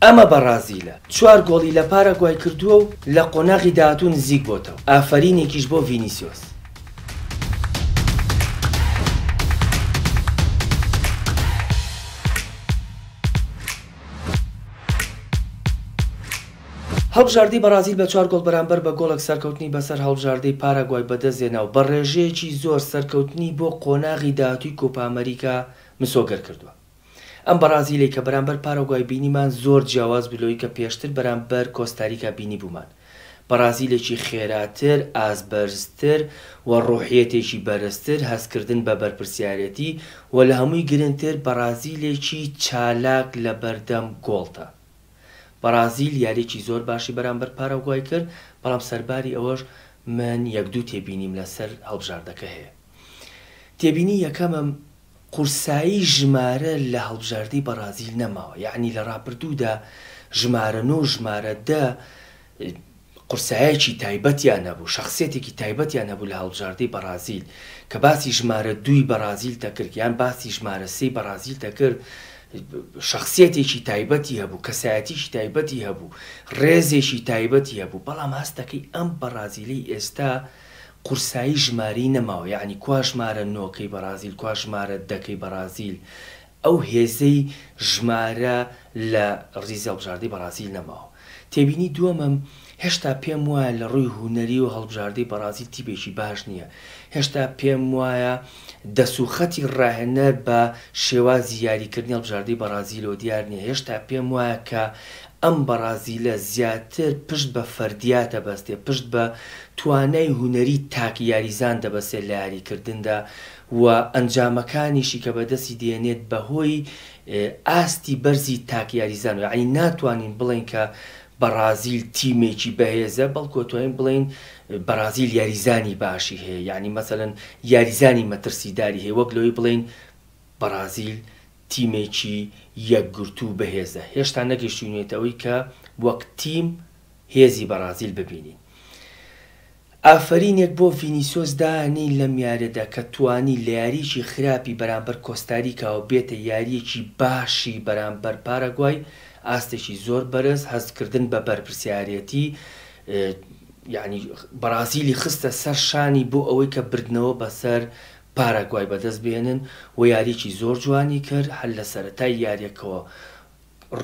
ئەمە بەڕازیلە، چوار گۆڵی لە پاراگوای کردووە و لە قۆناغی داهاتوو نزیک بۆتەوە، ئافەرینێکیش بۆ ڤینیسیۆس. هەڵبژاردەی بەڕازیل بە چوار گۆڵ بەرامبەر بە گۆڵێک سەرکەوتنی بەسەر هەڵبژاردەی پاراگوای بەدەستهێنا و بە ڕێژەیەکی زۆر سەرکەوتنی بۆ قۆناغی داهاتووی کۆپا ئەمەریکا مسۆگەر کردووە. ئەم بەڕازیلەی کە بەرامبەر پاراگوای بینیمان زۆر جیاواز بوو لەوەی کە پێشتر بەرامبەر کۆستاریکا بینیبوومان. بەڕازیلێکی خێراتر، ئاست بەرزتر و ڕۆحیەتێکی بەرزتر، هەستکردن بە بەرپرسیارێتی و لە هەمووی گرنگتر بەڕازیلێکی چالاک لەبەردەم گۆڵدا. بەڕازیل یاریەکی زۆر باشی بەرامبەر پاراگوای کرد، بەڵام سەرباری ئەوەش من یەک دوو تێبینیم لەسەر هەڵبژاردەکە هەیە. تێبینی یەکەمم قورسایی ژمارە لە هەڵبژاردەی بەڕازیل نەماوە، یەعنی لە ڕابردوودا ژمارە نۆ و ژمارە دە قورسایەکی تایبەتیان هەبوو، شەخسیەتێکی تایبەتیان هەبوو لە هەڵبژاردەی بەڕازیل، کە باسی ژمارە دووی بەڕازیل دەکرد یان باسی ژمارە سێی بەڕازیل دەکرد، شەخسیەتێکی تایبەتی هەبوو، کەسایەتیی تایبەتی هەبوو، ڕێزێکی تایبەتی هەبوو، بەڵام هەست دەکەی ئەم بەڕازیلەی ئێستا قورسایی ژمارەی نەماوە، یەعنی کوا ژمارە نۆکەی بەڕازیل، کوا ژمارە دەکەی بەڕازیل، ئەو هێزەی ژمارە لە ڕیزی هەڵبژاردەی بەڕازیل نەماوە. تێبینی دووەمم، هێشتا پێم وایە لە ڕووی هونەرییەوە هەڵبژاردەی بەڕازیل تیپێکی باش نییە. هێشتا پێم وایە دەست و خەتی ڕاهێنەر بە شێوازی یاریکردنی هەڵبژاردەی بەڕازیلەوە دیار نییە. هێشتا پێم وایە کە ئەم بەڕازیلە زیاتر پشت بە فەردیات دەبەستێ، پشت بە توانای هونەری تاک یاریزان دەبەستێت لە یاریکردندا و ئەنجامەکانیشی کە بەدەستی دێنێت بەهۆی ئاستی بەرزی تاک یاریزان یەعنی ناتوانین بڵێین کە بەڕازیل تیمێکی بەهێزە بەڵکو ئەتوانین بڵێین بەڕازیل یاریزانی باشی هەیە یەعنی مەسەلەن یاریزانی مەترسیداری هەیە وەک لەوەی بڵێین بەڕازیل تیمێکی یەکگرتوو و بەهێزە هێشتا نەگەیشتوینێتە ئەوەی کە وەک تیم هێزی بەڕازیل ببینین. ئافەرینێک بۆ ڤینیسیۆس دانێین لەم یاریەدا کە توانی لە یاریەکی خراپی بەرامبەر کۆستاریکاوە بێتە یاریەکی باشی بەرامبەر پاراگوای، ئاستێکی زۆر بەرز، هەستکردن بە بەرپرسیارێتی یانی بەڕازیلی خستە سەر شانی بۆ ئەوەی کە بردنەوە بەسەر پاراگوای بەدەست بهێنن و یاریەکی زۆر جوانی کرد هەر لە سەرەتای یاریەکەوە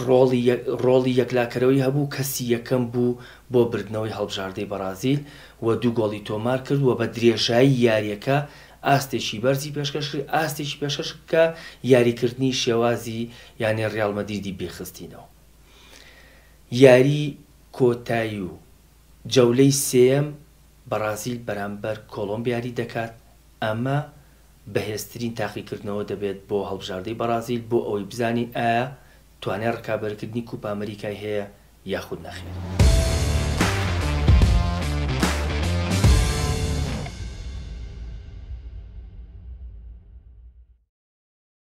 ڕۆڵی ڕۆڵی یەکلاکەرەوەی هەبوو، کەسی یەکەم بوو بۆ بردنەوەی هەڵبژاردەی بەڕازیل و دوو گۆڵی تۆمارکرد و بە درێژایی یارییەکە ئاستێکی بەرزی پێشکەش کرد، ئاستێکی پێشکەش کرد کە یاریکردنی شێوازی یانەی ڕیاڵ مەدریدی بیرخستینەوە. یاری کۆتایی و جەولەی سێیەم بەڕازیل بەرامبەر کۆڵۆمبیا یاری دەکات، ئەمە بەهێزترین تاقیکردنەوە دەبێت بۆ هەڵبژاردەی بەڕازیل بۆ ئەوەی بزانین ئایا توانای ڕکابەرکردنی کوپا ئەمریکای هەیە یاخود نەخێر.